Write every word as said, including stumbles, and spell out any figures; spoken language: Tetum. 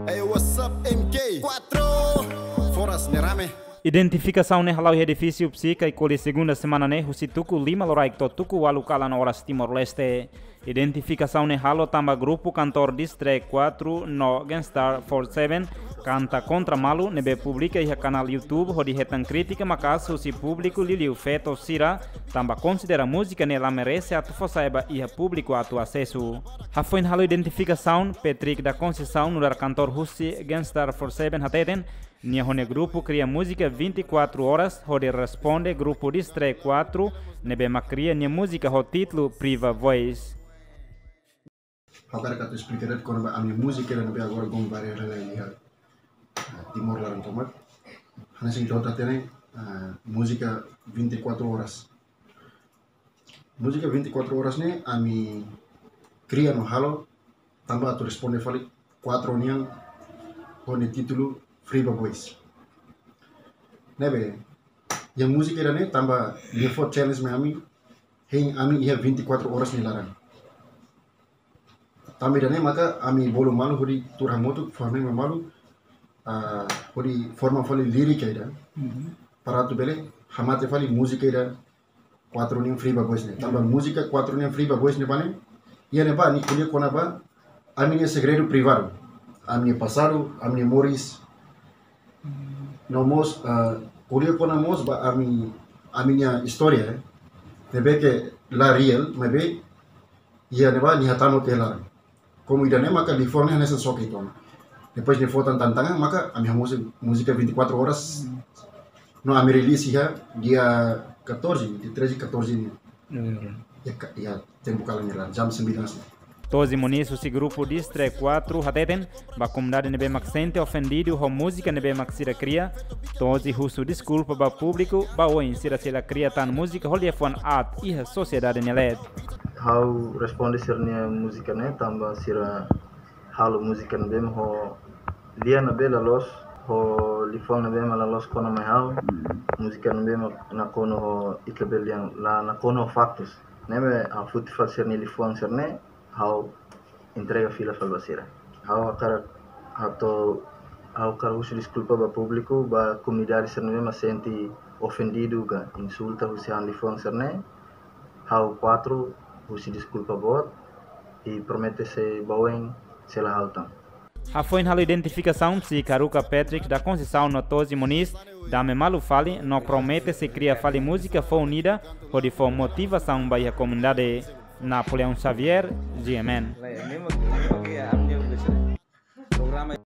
Hey, what's up, M K? Quatro! Foras ne'e rame. Identifikasaun ne'e hala'o iha edifísiu Psica Icoli segunda semana ne'e, husi tuku lima loraik to'o tuku ualu kalan oras Timor-Leste. Identifikasaun ne'e halo tanba grupu kantór Distrek quatro no Gangstar forty-seven kanta kontra malu ne'ebé publika iha kanál YouTube hodi hetan krítika maka'as husi públiku liuliu feto sira, tanba konsidera múzika ne'e la merese atu fó sai ba iha públiku atu asesu. Hafoin halo identifikasaun, Patrick da Conceição, nu'udar kantór husi Gangstar forty-seven hateten, nia ho nia grupu kria múzika vinte e quatro horas hodi responde grupu Distrek quatro ne'ebé mak kria nia múzika ho títulu Priva Voice. Ha'u hakarak atu esplika de'it kona-ba ami-nia múzika ida ne'ebé agora governu barak iha, ah, Timor laran tomak. Hanesan ita hotu hatene, ah, múzika vinte e quatro horas. Múzika vinte e quatro horas ne'e ami kria no halo tanba atu responde fali quatro nian ho nia títulu Priva Voice. Ne'ebé, iha múzika ida-ne'e tanba nia fó challenge mai ami, hein ami iha vinte e quatro horas nia laran. Tanba ida-ne'e maka ami bolu malu hodi tuur hamutuk, fó-hamriik malu, ah, hodi forma fali lírika ida. Mhm. Para atu bele hamate fali múzika ida quatro nian Priva Voice ne'e. Tanba, mhm, múzika quatro nian Priva Voice ne'ebá ne'e, iha ne'ebá nia ko'alia kona-ba ami-nia segredu privadu. Ami-nia pasadu, ami-nia moris. Mhm. No mós, ah, ko'alia kona mós ba ami, ami-nia istória, eh. Ne'ebé ke la real, maibé iha ne'ebá nia hatama ke laran. Komu ida-ne'e maka liafuan ne'e hanesan xoke ita ona. Depois nia fó tan tantangan maka ami hamosu múzika vinte e quatro horas. Hmm. No ami release iha dia catorze, dia treze, catorze ne'e. Hmm. Iha ka-, iha tempu kalan ne'e laran, jam sembilan ne'e. Tozi Moniz husi grupu Distrek quatro hateten, ba komunidade ne'ebé mak sente ofendidu ho múzika ne'ebé mak sira kria, Tozi husu deskulpa ba públiku, ba oin sira sei la kria tan múzika ho liafuan aat iha sosiedade nia leet. Ha'u responde sira-nia múzika ne'e tanba sira halo múzika ne'ebé mak ho lian ne'ebé la loos, ho liafuan ne'ebé mak la loos kona mai ha'u. Múzika ne'ebé mak nakonu ho ita-nia lian, la nakonu ho faktus. Ne'ebé ha'u foti fali sira-nia liafuan sira-ne'e, ha'u entrega fila fali ba sira. Ha'u hakarak hato'o, ha'u hakarak husu deskulpa ba públiku, ba komunidade sira ne'ebé mak sente ofendidu ka insulta husi ha'u-nia liafuan sira-ne'e. Ha'u quatro husu deskulpa boot, i promete se ba oin sei la halo tan. Hafoin halo identifikasaun, Psica haruka Patrick da Conceição no Tozi Moniz dame malu fali no promete sei kria fali múzika foun ida hodi fó motivasaun ba iha komunidade. Napoleão Xavier, G M N.